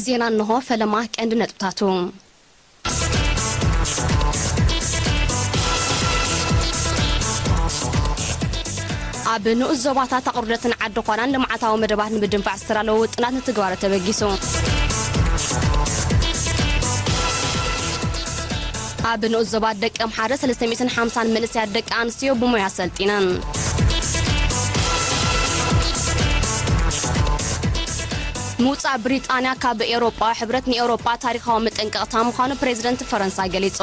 ዜና እንሆ፣ ፈለማ ቀንዲ ነጥብታቱ። ኣብ ንኡስ ዞባታት ኣቑርደትን ዓዲ ዃናን ልምዓታዊ መደባት ንምድንፋዕ ዝተዳለወ ውጥናት ንትግባረ ተበጊሱ። ኣብ ንኡስ ዞባ ደቂ ኣምሓረ ሰለስተ ሚእትን ሓምሳን መንእሰያት ደቂ ኣንስትዮ ብሞያ ሰልጢነን። ምውጻእ ብሪጣንያ ካብ ኤውሮጳዊ ሕብረት ንኤውሮጳ ታሪኻዊ መጠንቀቕታ ምዃኑ ፕሬዚደንት ፈረንሳ ገሊጹ።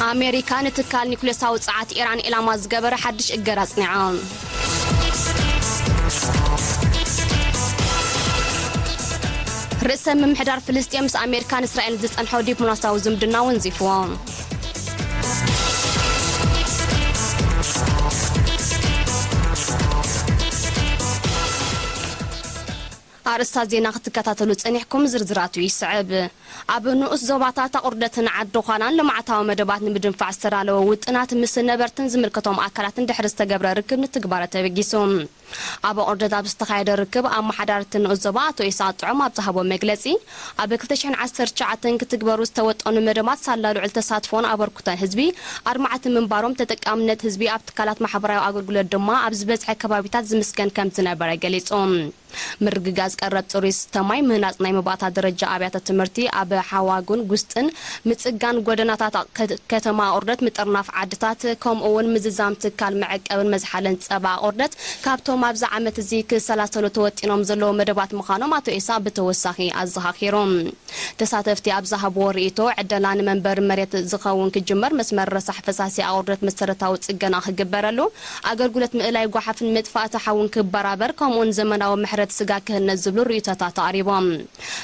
ኣሜሪካ ንትካል ኒኩሌሳዊ ጸዓት ኢራን ኢላማ ዝገበረ ሓድሽ እገዳ ኣጽኒዓ። ርእሰ ምምሕዳር ፍልስጤም ምስ ኣሜሪካን እስራኤልን ዝጸንሖ ዲፕሎማስያዊ ዝምድና ወንዚፍዎ። ኣርእስታት ዜና ክትከታተሉ ጸኒሕኩም፣ ዝርዝራቱ ይስዕብ። ኣብ ንኡስ ዞባታት ኣቑርደትን ዓዲ ዃናን ልምዓታዊ መደባት ንምድንፋዕ ዝተዳለወ ውጥናት ምስ ነበርትን ዝምልከቶም ኣካላትን ድሕሪ ዝተገብረ ርክብ ንትግባረ ተበጊሱ። ኣብ ኣቑርደት ኣብ ዝተኻየደ ርክብ፣ ኣመሓዳሪ እቲ ንኡስ ዞባ ኣቶ ኢሳቕ ጥዑም ኣብ ዝሃቦ መግለጺ፣ ኣብ ክልተ ሽሕን ዓሰርተ ትሽዓተን ክትግበሩ ዝተወጠኑ መደባት ሳላ ልዑል ተሳትፎን ኣበርክቶን ህዝቢ ኣድማዕቲ ምንባሮም፣ ተጠቃምነት ህዝቢ ኣብ ትካላት ማሕበራዊ ኣገልግሎት ድማ ኣብ ዝበዝሐ ከባቢታት ዝምስገን ከም ዝነበረ ገሊጹ። ምርግጋጽ ቀረብ ጽሩይ ዝስተ ማይ፣ ምህናጽ ናይ መባእታ ደረጃ ኣብያተ ትምህርቲ ኣብ ሓዋጉን ጉስጥን፣ ምጽጋን ጎደናታት ከ-፣ ከተማ ኣቑርደት፣ ምጥርናፍ ዓድታት፣ ከምኡ እውን ምዝዛም ትካል መዕቀብን መዝሓልን ጸባ ኣቑርደት ካብቶም ኣብዚ ዓመት እዚ ክሰላሰሉ ተወጢኖም ዘለዉ መደባት ምዃኖም ኣቶ ኢሳቕ ብተወሳኺ ኣዘኻኺሩ። ተሳተፍቲ ኣብ ዝሃብዎ ርእይቶ፣ ዕደላ ንመንበሪ መሬት ዝኸውን ክጅመር፣ መስመር ረሳሕ ፈሳሲ ኣቑርደት መሰረታዊ ጽገና ክግበረሉ፣ ኣገልግሎት ምእላይ ጓሓፍን ምጥፋእቲ ሓውን ክበራበር፣ ከምኡውን ዘመናዊ መሕረዲ ስጋ ክህነጽ ዝብሉ ርእይቶታት ኣቕሪቦም።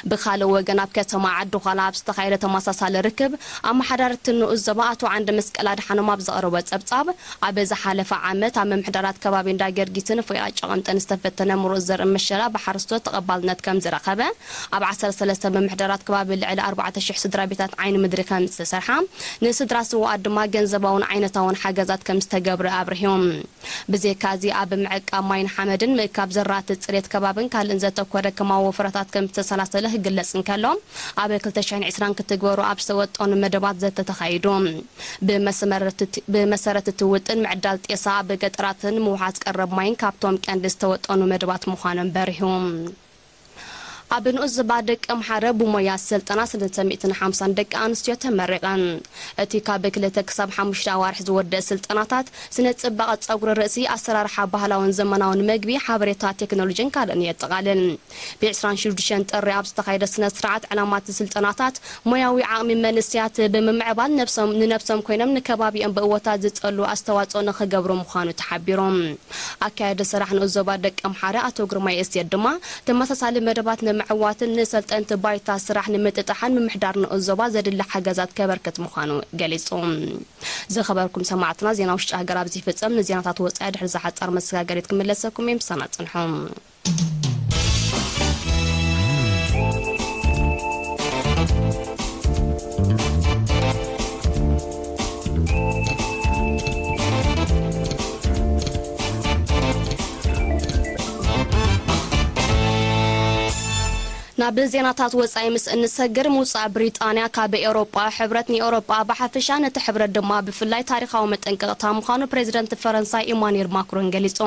ብኻልእ ወገን፣ ኣብ ከተማ ዓዲ ዃላ ኣብ ዝተኻየደ ተመሳሳሊ ርክብ፣ ኣመሓዳሪ እቲ ንኡስ ዞባ ኣቶ ዓንደ መስቀል ኣድሓኖም ኣብ ዘቕረቦ ጸብጻብ፣ ኣብ ዝሓለፈ ዓመት ኣብ ምምሕዳራት ከባቢ እንዳ ገርጊስን ፎያ ጨቐምጠን ዝተፈተነ ምሩፅ ዘርኢ መሸላ ብሓረስቶት ተቐባልነት ከም ዝረኸበ፣ ኣብ ዓሰርተ ሰለስተ ምምሕዳራት ከባቢ ልዕሊ ኣርባዕተ ሽሕ ስድራ ቤታት ዓይኒ ምድሪ ከም ዝተሰርሓ፣ ንስድራ ስውኣት ድማ ገንዘባውን ዓይነታውን ሓገዛት ከም ዝተገብረ ኣብሪሁ። ብዘይካዚ፣ ኣብ ምዕቃብ ማይን ሓመድን፣ ምእካብ ዘራእቲ፣ ጽሬት ከባብን ካልእን ዘተኮረ ከማዊ ወፈራታት ከም ዝተሰላሰለ ክግለጽ እንከሎ፣ ኣብ ክልተ ሽሕን ዕስራን ክትግበሩ ኣብ ዝተወጠኑ መደባት ዘተ ተኻይዱ። ብመሰረት እቲ፣ ብመሰረት እቲ ውጥን፣ ምዕዳል ጤሳ ኣብ ገጠራትን ምውሓስ ቀረብ ማይን ካብቶም ቀንዲ ዝተወጠኑ መደባት ምዃኖም በሪሁ። ኣብ ንኡስ ዞባ ደቂ ኣምሓረ ብሞያ ስልጠና ሰለስተ ሚእትን ሓምሳን ደቂ ኣንስትዮ ተመሪቐን። እቲ ካብ ክልተ ክሳብ ሓሙሽተ ኣዋርሕ ዝወደእ ስልጠናታት፣ ስነ ጽባቐ ጸጉሪ ርእሲ፣ ኣሰራርሓ ባህላውን ዘመናውን መግቢ፣ ሓበሬታ ቴክኖሎጂን ካልእን የጠቓልል። ብዕስራን ሽዱሽተን ጥሪ ኣብ ዝተኻየደ ስነ ስርዓት፣ ዕላማ እቲ ስልጠናታት ሞያዊ ዓቕሚ መንእሰያት ብምምዕባል፣ ነብሶም፣ ንነብሶም ኮይኖም ንከባቢኦም ብእወታት ዝጸሉ ኣስተዋጽኦ ንኽገብሩ ምዃኑ ተሓቢሩ። ኣካያዲ ስራሕ ንኡስ ዞባ ደቂ ኣምሓረ ኣቶ ግርማይ እሴት ድማ፣ ተመሳሳሊ መደባት ንምዕዋትን ንሰልጠንቲ ባይታ ስራሕ ንምጥጣሕን ምምሕዳር ንኡስ ዞባ ዘድሊ ሓገዛት ከበርክት ምዃኑ ገሊጹ። ዝኸበርኩም ሰማዕትና፣ ዜና ውሽጢ ሃገር ኣብዚ ይፍጸም። ንዜናታት ወጻኢ ድሕሪ ዝሓጸር መሰጋገሪት ክምለሰኩም እየ። ምሳና ጽንሑ። ናብ ዜናታት ወጻኢ ምስ እንሰግር፣ ምውጻእ ብሪጣንያ ካብ ኤውሮጳ ሕብረት ንኤውሮጳ ብሓፈሻ፣ ነቲ ሕብረት ድማ ብፍላይ ታሪኻዊ መጠንቀቕታ ምዃኑ ፕሬዚደንት ፈረንሳ ኢማኑኤል ማክሮን ገሊጹ።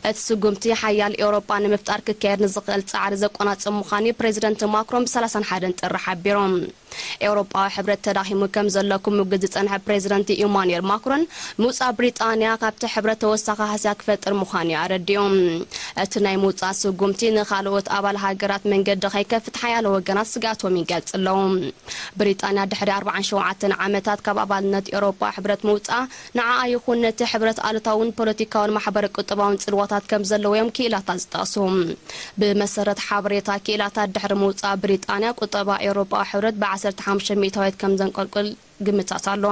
እቲ ስጉምቲ ሓያል ኤውሮጳ ንምፍጣር ክካየድ ንዝኽእል ጻዕሪ ዘቆናጽብ ምዃኑ ፕሬዚደንት ማክሮን ብሰላሳን ሓደን ጥሪ ሓቢሮም። ኤውሮጳዊ ሕብረት ተዳኺሙ ከም ዘሎ ክምጉት ዝጸንሐ ፕሬዚደንት ኢማኑኤል ማክሮን፣ ምውጻእ ብሪጣንያ ካብቲ ሕብረት ተወሳኺ ሃስያ ክፈጥር ምዃኑ እዩ ኣረዲኡ። እቲ ናይ ምውጻእ ስጉምቲ ንኻልኦት ኣባል ሃገራት መንገዲ ከይከፍት ሓያሎ ወገናት ስግኣቶም ይገልጽ ኣለዉ። ብሪጣንያ ድሕሪ ኣርባዓን ሸውዓተን ዓመታት ካብ ኣባልነት ኤውሮጳ ሕብረት ምውጻእ፣ ንዓኣ ይኹን ነቲ ሕብረት ኣሉታውን ፖለቲካውን ማሕበረ ቁጠባውን ጽልዋታት ከም ዘለዎ'ዮም ክኢላታት ዝጠቕሱ። ብመሰረት ሓበሬታ ክኢላታት፣ ድሕሪ ምውጻእ ብሪጣንያ፣ ቁጠባ ኤውሮጳዊ ሕብረት ብዓሰርተ ሓሙሽተ ሚእታዊት ከም ዘንቆልቁል ግምታት ኣሎ።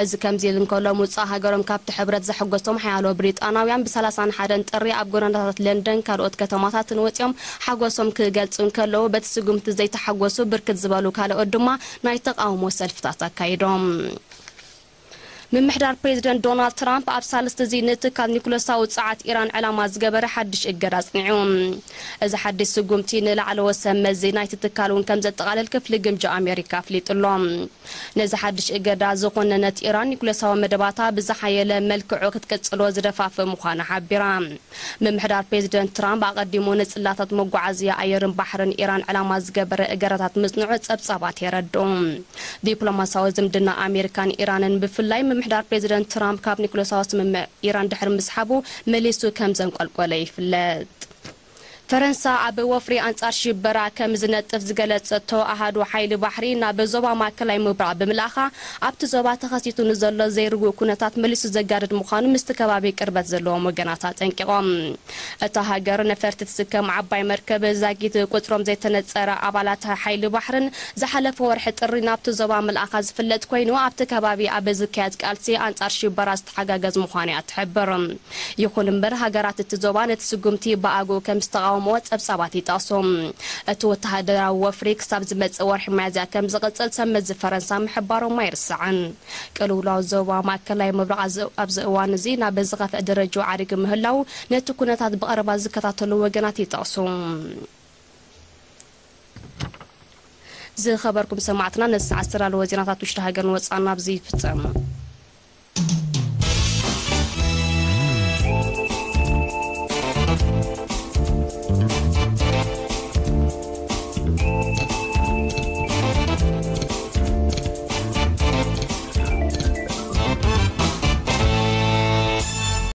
እዚ ከምዚ ኢሉ እንከሎ፣ ምውጻእ ሃገሮም ካብቲ ሕብረት ዘሐጎሶም ሓያሎ ብሪጣናውያን፣ ብሰላሳን ሓደን ጥሪ ኣብ ጎደናታት ለንደን ካልኦት ከተማታትን ወጺኦም ሓጎሶም ክገልጹ እንከለዉ፣ በቲ ስጉምቲ ዘይተሓጎሱ ብርክት ዝበሉ ካልኦት ድማ ናይ ተቓውሞ ሰልፍታት ኣካይዶም። ምምሕዳር ፕሬዚደንት ዶናልድ ትራምፕ ኣብ ሳልስቲ እዚ ንትካል ኒኩለሳዊ ጸዓት ኢራን ዕላማ ዝገበረ ሓድሽ እገዳ ኣጽኒዑ። እዚ ሓድሽ ስጉምቲ ንላዕለዎት ሰብ መዚ ናይቲ ትካል እውን ከም ዘጠቓልል ክፍሊ ግምጃ ኣሜሪካ ኣፍሊጡ ኣሎ። ነዚ ሓድሽ እገዳ ዝኾነነት ኢራን ኒኩለሳዊ መደባታ ብዝሓየለ መልክዑ ክትቅጽሎ ዝደፋፍእ ምዃና ሓቢራ። ምምሕዳር ፕሬዚደንት ትራምፕ ኣቐዲሙ ንጽላታት መጓዓዝያ ኣየርን ባሕርን ኢራን ዕላማ ዝገበረ እገዳታት ምጽንዑ ጸብጻባት የረድኡ። ዲፕሎማሲያዊ ዝምድና ኣሜሪካን ኢራንን፣ ብፍላይ ምምሕዳር ፕሬዚደንት ትራምፕ ካብ ኒኩለሳዊ ስምምዕ ኢራን ድሕሪ ምስሓቡ፣ መሊሱ ከም ዘንቆልቆለ ይፍለጥ። ፈረንሳ ኣብ ወፍሪ ኣንጻር ሽበራ ከም ዝነጥፍ ዝገለጸቶ ኣሃዱ ሓይሊ ባሕሪ፣ ናብ ዞባ ማእከላይ ምብራቕ ብምልኣኻ ኣብቲ ዞባ ተኸሲቱ ንዘሎ ዘይርጉእ ኩነታት መሊሱ ዘጋድድ ምዃኑ ምስቲ ከባቢ ቅርበት ዘለዎም ወገናት ኣጠንቂቖም። እታ ሃገር ነፈርቲ ትስከም ዓባይ መርከብ ዛጊት ቁጽሮም ዘይተነጸረ ኣባላት ሓይሊ ባሕርን ዝሓለፈ ወርሒ ጥሪ ናብቲ ዞባ ምልኣኻ ዝፍለጥ ኮይኑ፣ ኣብቲ ከባቢ ኣብ ዝካየድ ቃልሲ ኣንጻር ሽበራ ዝተሓጋገዝ ምዃኑ እያ ትሕብር። ይኹን እምበር፣ ሃገራት እቲ ዞባ ነቲ ስጉምቲ ብኣግኡ ከም ዝተቓወምዎ ጸብጻባት ይጠቕሱ። እቲ ወተሃደራዊ ወፍሪ ክሳብ ዝመጽእ ወርሒ ሚያዝያ ከም ዝቕጽል ሰብ መዚ ፈረንሳ ምሕባሮም ኣይርሳዕን። ቅልውላው ዞባ ማእከላይ ምብራቕ ኣዝ-፣ ኣብዚ እዋን እዚ ናብ ዝኸፍአ ደረጃ ዓሪጉ ምህላው፣ ነቲ ኩነታት ብቐረባ ዝከታተሉ ወገናት ይጠቕሱ። ዝኸበርኩም ሰማዕትና፣ ነዚ ሰዓት ዝተዳለወ ዜናታት ውሽጢ ሃገርን ወጻእን ኣብዚ ይፍጸም።